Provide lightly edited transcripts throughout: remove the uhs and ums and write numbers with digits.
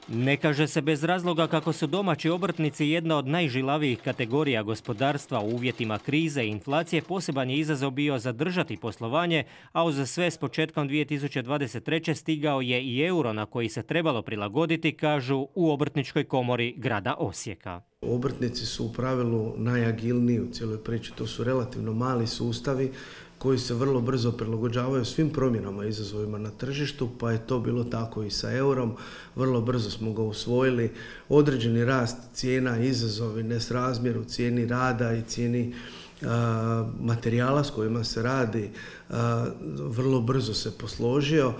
Ne kaže se bez razloga kako su domaći obrtnici jedna od najžilavijih kategorija gospodarstva u uvjetima krize i inflacije. Poseban je izazov bio zadržati poslovanje, a uz sve s početkom 2023. stigao je i euro na koji se trebalo prilagoditi, kažu u Obrtničkoj komori grada Osijeka. Obrtnici su u pravilu najagilniji u cijeloj priči, to su relativno mali sustavi koji se vrlo brzo prilagođavaju svim promjenama i izazovima na tržištu, pa je to bilo tako i sa eurom. Vrlo brzo smo ga usvojili. Određeni rast cijena, izazovi, nesrazmjer u cijeni rada i cijeni materijala s kojima se radi, vrlo brzo se posložio.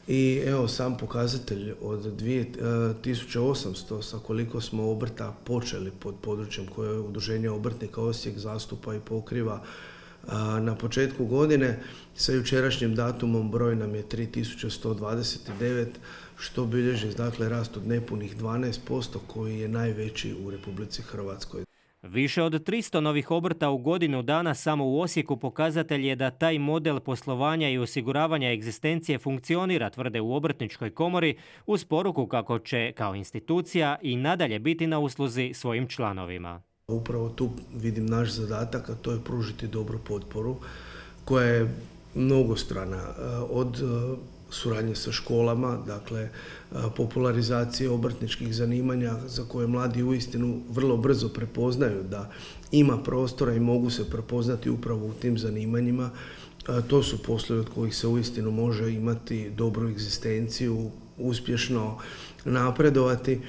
I evo sam pokazatelj od 2800 sa koliko smo obrta počeli pod područjem koje Udruženje obrtnika Osijek zastupa i pokriva na početku godine, sa jučerašnjim datumom broj nam je 3129, što bilježi dakle rast od nepunih 12% koji je najveći u Republici Hrvatskoj. Više od 300 novih obrta u godinu dana samo u Osijeku pokazatelj je da taj model poslovanja i osiguravanja egzistencije funkcionira, tvrde u Obrtničkoj komori, uz poruku kako će kao institucija i nadalje biti na usluzi svojim članovima. Upravo tu vidim naš zadatak, a to je pružiti dobru potporu koja je mnogostrana, od suradnje sa školama, dakle popularizacije obrtničkih zanimanja za koje mladi uistinu vrlo brzo prepoznaju da ima prostora i mogu se prepoznati upravo u tim zanimanjima. To su poslovi od kojih se uistinu može imati dobru egzistenciju, uspješno napredovati,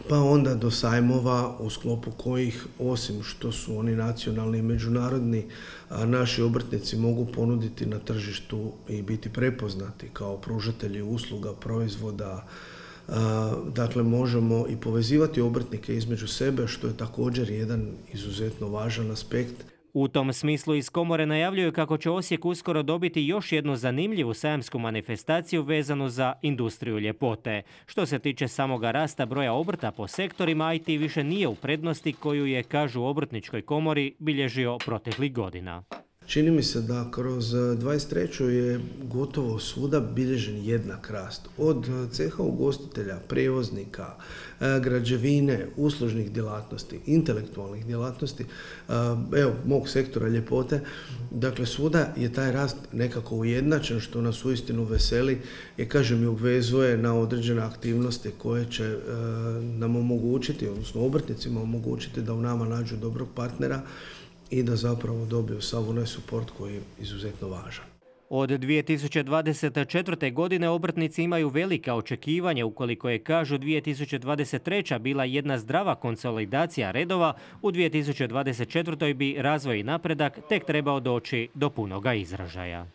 pa onda do sajmova u sklopu kojih, osim što su oni nacionalni i međunarodni, naši obrtnici mogu ponuditi na tržištu i biti prepoznati kao pružatelji usluga, proizvoda. Dakle, možemo i povezivati obrtnike između sebe, što je također jedan izuzetno važan aspekt. U tom smislu iz komore najavljuju kako će Osijek uskoro dobiti još jednu zanimljivu sajamsku manifestaciju vezanu za industriju ljepote. Što se tiče samoga rasta broja obrta po sektorima, IT više nije u prednosti koju je, kažu u Obrtničkoj komori, bilježio proteklih godina. Čini mi se da kroz 23. je gotovo svuda bilježen jednak rast. Od ceha ugostitelja, prijevoznika, građevine, uslužnih djelatnosti, intelektualnih djelatnosti, evo, mog sektora ljepote. Dakle, svuda je taj rast nekako ujednačen, što nas uistinu veseli i, kažem, i obvezuje na određene aktivnosti koje će nam omogućiti, odnosno obrtnicima omogućiti da u nama nađu dobrog partnera i da zapravo dobiju sav onaj suport koji je izuzetno važan. Od 2024. godine obrtnici imaju velika očekivanja ukoliko je, kažu, 2023. bila jedna zdrava konsolidacija redova, u 2024. bi razvoj i napredak tek trebao doći do punoga izražaja.